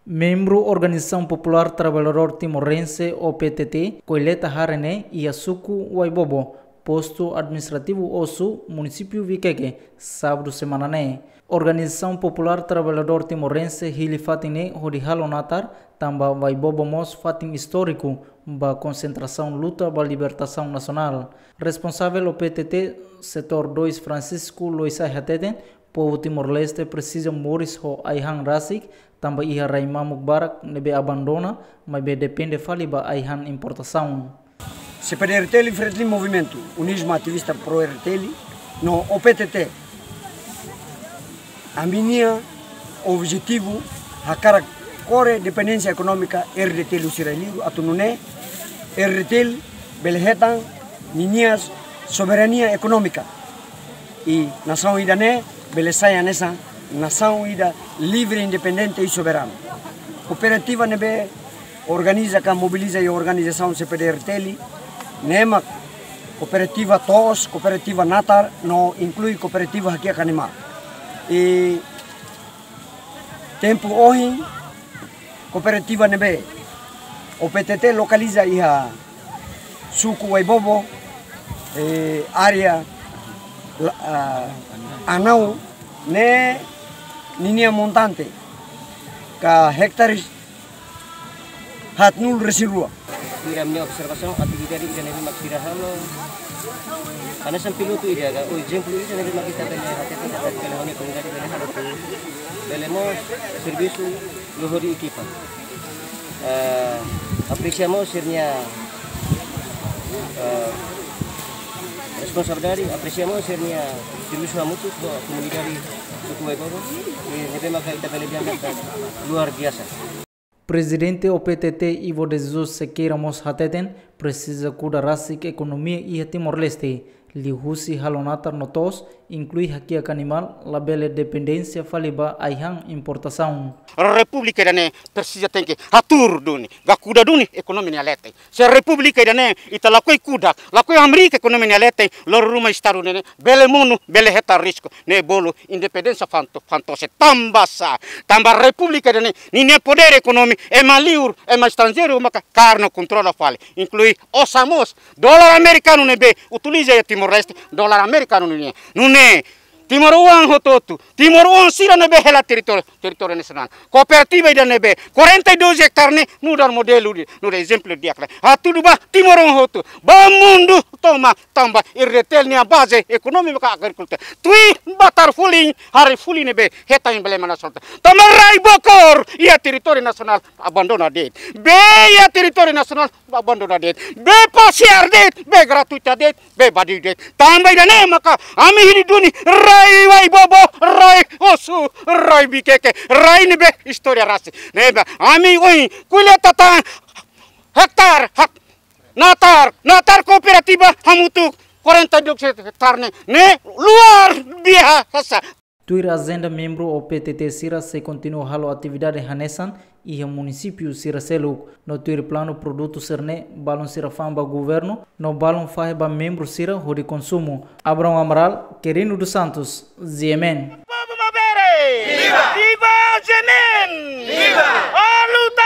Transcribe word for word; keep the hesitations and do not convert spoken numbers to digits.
Membru Organizasaun Populár Traballadór Timorense, O P T T, koleta hare ne'e iha suku Waibobo, postu administrativu Osu, munisípiu Viqueque, sábadu semana ne'e. Organizasaun Populár Traballadór Timorense hili fatin ne'e hodi halo natar, tanba Waibobo mós fatin istóriku ba konsentrasaun luta ba libertasaun nasionál. Responsavel O P T T Setór dois, Francisco Loisai, hateten, povu Timor-Leste presiza moris ho ai-han rasik, tanba iha rai mamuk barak ne'ebé abandona, maibé depende fali ba ai-han importasaun. C P D R T L, Fretilin Movimentu, UNISMA, ativista pro R T L, no O P T T, ami-nia objetivu hakarak kore dependénsia ekonómika R D T L husi rai-li'ur, atu nune'e R D T L bele hetan ninia soberania ekonómika. I nasaun ida-ne'e bele sai hanesan nasaun ida livre, independente i soberanu. Kooperativa ne'ebé organiza ka mobiliza iha organizasaun C P D R T L, ne'e mak kooperativa to'os, kooperativa natar, no inklui kooperativa hakiak animál. I tempu ohin, kooperativa ne'ebé O P T T lokaliza iha suku Waibobo, eh, área la-, ah, Anau, ne'e ninia montante ka hektares haatnulu-resin-rua. Tuir ami-nia observasaun, atividade ida ne'ebé mak sira halo, hanesan pilotu ida ka, ou ezemplu ida ne'ebé mak ita bele hateten katak bele halo komunidade bele halo tu, bele mós servisu lori ekipa. Eh, apresia mós sira-nia, eh, responsabilidade, apresia mós sira-nia servisu hamutuk ho komunidade suku Waibobo, i ne'ebé maka ita bele dehan katak luar biasa. Prezidente O P T T, Ivo de Jesus Sequeira, mós hateten, presiza kuda rasik ekonomia iha Timor-Leste, liuhusi halo natar no to'os, inklui hakiak animál, labele dependénsia fali ba ai-han importasaun. Repúblika ida-ne'e presiza tenke hatuur duni, ka kuda duni ekonomia nia leten. Se Repúblika ida-ne'e ita lakohi kuda, lakohi hamriik ekonomia nia leten, loron ruma Estadu ne'e bele monu, bele hetan risku, ne'e bolu independénsia fanto-, fantose. Tanba sá? Tanba Repúblika ida-ne'e, ninia podér ekonómiku ema li'ur, ema estranjeiru maka karna kontrola fali, inklui osan mós. Dolar amerikanu ne'ebé utiliza iha Timor-Leste, dolar amerikanu nian. Nune'e timoroan hotu-hotu, timoroan sira ne'ebé hela territóriu, territóriu nasionál. Kooperativa ida ne'ebé quarenta e dois hectares ne'e nu'udar modelu ida, nu'udar ezemplu di'ak lai. Hatudu ba timoroan hotu, ba mundu tomak, tanba R D T L nia baze ekonomia maka agrikultura. Tuir batar fulin, haree fulin ne'ebé hetan emblema nasionál. Tanba rai Bokor iha territóriu nasionál abandona de'it. Bee iha territóriu nasionál abandona de'it. Bee pasiar de'it, bee gratuita de'it, bee badiu de'it. Tanba ida-ne'e maka ami hili duni rai Waibobo, rai Osu, rai Viqueque, rai ne'ebé istória rasik. Ne'ebé ami ohin koleta tan hektares, hak-, natar, natar kooperativa hamutuk quarenta e dois hectares ne'e, ne'e luar biasa. Tuir ajenda, membru O P T T sira sei kontinua halo atividade hanesan iha munisípiu sira seluk, no tuir planu produtu sira-ne'e balun sira fa'an ba governu, no balun fahe ba membru sira hodi konsumu. Abrão Amaral, Querino dos Santos, G M N. Povu maubere! Viva! Viva G M N! Viva! A luta